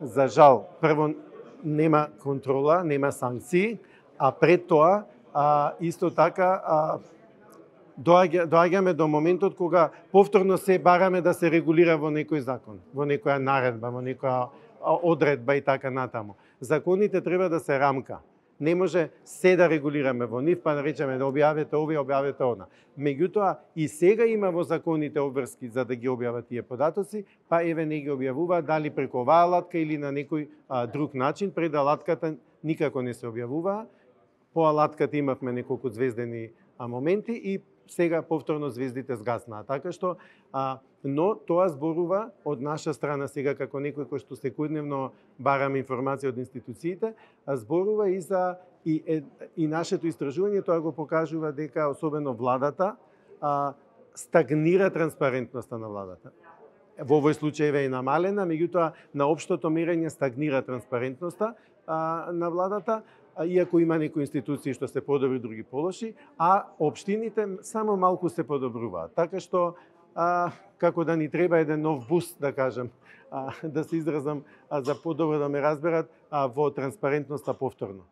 за жал, прво нема контрола, нема санкции, а пред тоа исто така доаѓаме до моментот кога повторно се бараме да се регулира во некој закон, во некоја наредба, во некоја одредба и така натаму. Законите треба да се рамка. Не може се да регулираме во нив, па да речеме да објавете овие, објавете она. Меѓутоа, и сега има во законите обврски за да ги објават тие податоци, па еве не ги објавуваат, дали преку оваа алатка или на некој друг начин, пред алатката никако не се објавуваа. По алатката имавме неколку звездени моменти и сега повторно звездите згаснаа. Така што, но тоа зборува од наша страна сега како некој кој што секојдневно бараме информација од институциите, зборува и за и нашето истражување, тоа го покажува дека особено владата стагнира транспарентноста на владата. Во овој случај е намалена, меѓутоа на општото мерење стагнира транспарентноста на владата, иако има некои институции што се подобри, други полоши, а општините само малку се подобруваат. Така што, како да ни треба еден нов буст, да кажем, да се изразам, за подобро да ме разберат, во транспарентноста повторно.